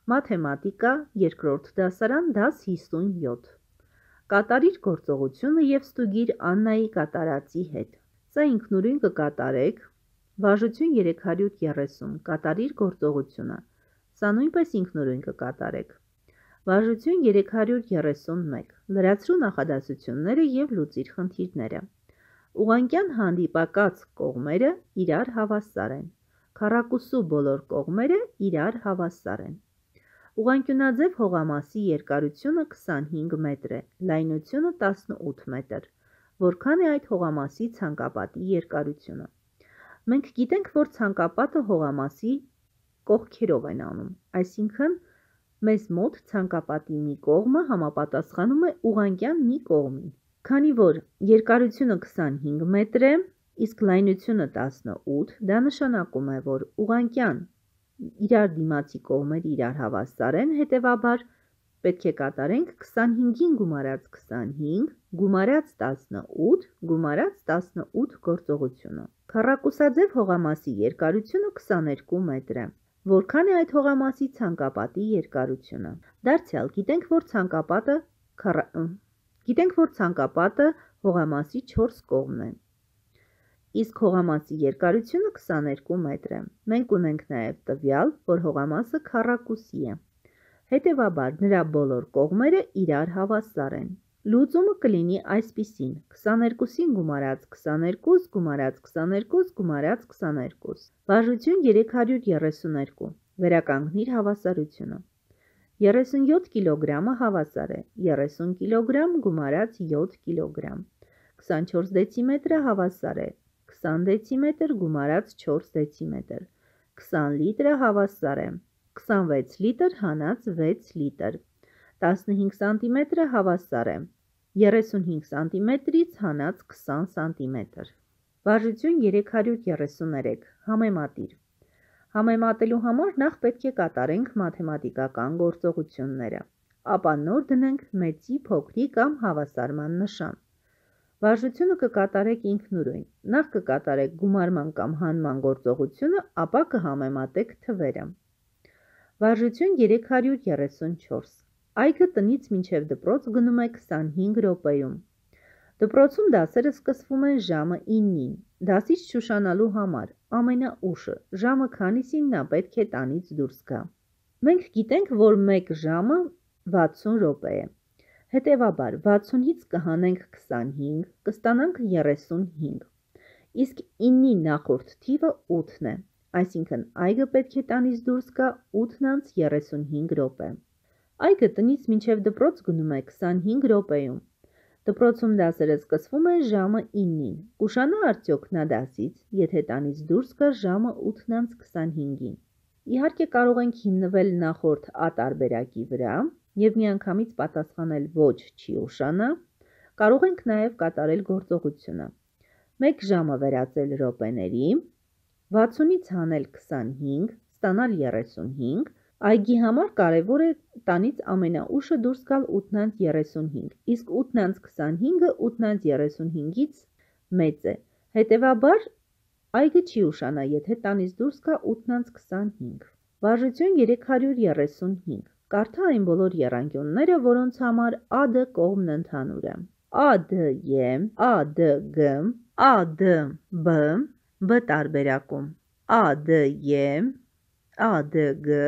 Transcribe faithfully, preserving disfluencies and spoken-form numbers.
Մաթեմատիկա, երկրորդ դասարան, դաս հիսունյոթ։ Կատարիր գործողությունը և ստուգիր Աննայի կատարածի հետ։ Սա ինքնուրույն կկատարեք, վարժություն երեք հարյուր երեսուն, կատարիր գործողությունը։ Սա նույնպես ինքնուրույն կկատարեք։ Վարժություն երեք հարյուր երեսուն մեկ, լրացրու նախադասությունները և լուծիր խնդիրները։ Ուղղանկյան հանդիպակաց կողմերը իրար հավասար են։ Քառակուսու բոլոր կողմերը իրար հավասար են։ Ուղղանկյունաձև հողամասի երկարությունը քսանհինգ մետր է, լայնությունը տասնութ մետր։ Որքան է այդ հողամասի ցանկապատի երկարությունը։ Մենք գիտենք, որ ցանկապատը հողամասի կողքերով են անում, այսինքն մեզ մոտ ցանկապատի մի կողմը համապատասխանում է ուղղանկյան մի կողմին։ Քանի որ երկարությունը քսանհինգ մետր է, իսկ լայնությունը տասնութ, դա նշանակում է, որ ուղղանկյան իրար դիմացի կողմերը իրար հավասար են, հետևաբար պետք է կատարենք քսանհինգին գումարած քսանհինգ, գումարած տասնութ, գումարած տասնութ գործողությունը։ Քառակուսաձև հողամասի երկարությունը քսաներկու մետր է։ Որքան է այդ հողամասի ցանկապատի երկարությունը։ Դարձյալ գիտենք, որ ցանկապատը քառ... գիտենք, որ ցանկապատը հողամասի չորս կողմն է։ Իսկ հողամասի երկարությունը քսաներկու մետր է։ Մենք ունենք նաև տվյալ, որ հողամասը քառակուսի է։ Հետևաբար նրա բոլոր կողմերը իրար հավասար են։ Լուծումը կլինի այսպիսին. քսաներկուսին գումարած քսաներկուս, գումարած քսաներկուս, գումարած քսաներկուս։ Վարժություն երեք հարյուր երեսուներկու։ Վերականգնիր հավասարությունը։ երեսունյոթ կիլոգրամը հավասար է երեսուն կիլոգրամ գումարած յոթ կիլոգրամ։ քսանչորս դեցիմետրը հավասար է քսան դեցիմետր գումարած չորս դեցիմետր։ քսան լիտրը հավասար է քսանվեց լիտր հանած վեց լիտր։ տասնհինգ սանտիմետրը հավասար է երեսունհինգ սանտիմետրից հանած քսան սանտիմետր։ Վարժություն երեք հարյուր երեսուներեք, համեմատիր։ Համեմատելու համար նախ պետք է կատարենք մաթեմատիկական գործողությունները, ապա նոր դնենք մեծի, փոքրի կամ հավասարման նշան։ Վարժությունը կկատարեք ինքնուրույն, նախ կկատարեք գումարման կամ հանման գործողությունը, ապա կհամեմատեք թվերը։ Վարժություն երեք հարյուր երեսունչորս։ Այգը տնից մինչև դպրոց գնում է քսանհինգ րոպեում։ Դպրոցում դասերը սկսվում են ժամը իննին։ Դասից չուշանալու համար ամենաուշը ժամը քանիսին նա պետք է տանից դուրս գա։ Մենք գիտենք, որ մեկ ժամը վաթսուն րոպե է։ Հետևաբար վաթսունից կհանենք քսանհինգ, կստանանք երեսունհինգ։ Իսկ իննի նախորդ թիվը ութն է, այսինքն այգը պետք է տանից դուրս գա ութն անց երեսունհինգ րոպե։ Այգը տնից մինչև դպրոց գնում է քսանհինգ րոպեում։ Դպրոցում դասերը սկսվում են ժամը իննին։ Կուշանա արդյոք նա դասից, եթե տանից դուրս գա ժամը ութն անց քսանհինգին։ Իհարկե կարող ենք հիմնվել նախորդ ա տարբերակի վրա և միանգամից պատասխանել ոչ չի ուշանա, կարող ենք նաև կատարել գործողությունը։ մեկ ժամը վերածել րոպեների, վաթսունից հանել քսանհինգ, ստանալ երեսունհինգ, այգի համար կարևոր է տանից ամենաուշը դուրս գալ ութն անց երեսունհինգ, իսկ ութն անց քսանհինգը ութն անց երեսունհինգից մեծ է, հետևաբար այգը չի ուշանա, եթե տանից դուրս գա ութն անց քսանհինգ։ Վարժություն երեք հարյուր երեսունհինգ։ Կարդա այն բոլոր եռանկյունները, որոնց համար ա դը կողմն ընդհանուր է։ ա դը է, ա դը գ, ա դը բ, բ տարբերակում, ա դը է, ա դը գ,